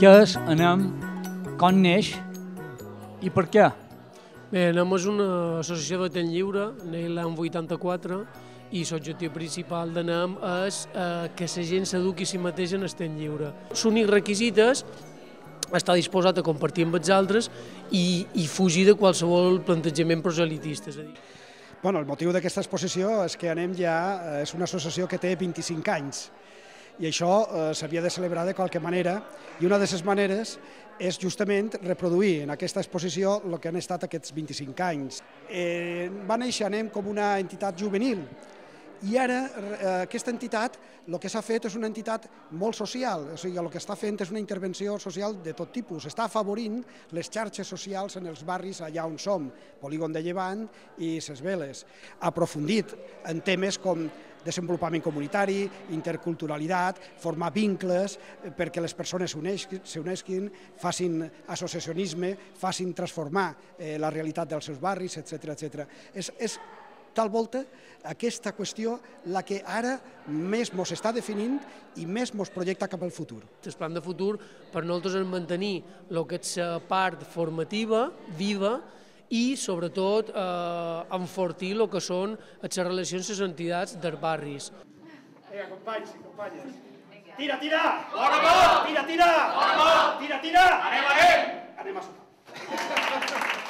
Què és ANEM, com neix i per què? Bé, ANEM és una associació de temps lliure, neix l'any 84, i l'objectiu principal d'ANEM és que la gent s'eduqui a si mateix en el temps lliure. L'únic requisit és estar disposat a compartir amb els altres i fugir de qualsevol plantejament proselitista. El motiu d'aquesta exposició és que ANEM ja és una associació que té 25 anys i això s'havia de celebrar de qualque manera, i una de les maneres és justament reproduir en aquesta exposició el que han estat aquests 25 anys. Va néixer ANEM com una entitat juvenil, i ara aquesta entitat el que s'ha fet és una entitat molt social, o sigui, el que està fent és una intervenció social de tot tipus, està afavorint les xarxes socials en els barris allà on som, Polígon de Llevant i Ses Veles. Ha aprofundit en temes com desenvolupament comunitari, interculturalitat, formar vincles perquè les persones s'unesquin, facin associacionisme, facin transformar la realitat dels seus barris, etc. És tal volta aquesta qüestió la que ara més ens està definint i més ens projecta cap al futur. El plan de futur per nosaltres és mantenir el que és la part formativa, viva, i sobretot enfortir el que són les relacions amb les entitats dels barris. Companys i companyes, tira! Bona! Tira! Bona! Tira! Tira! Anem! Anem a sopar.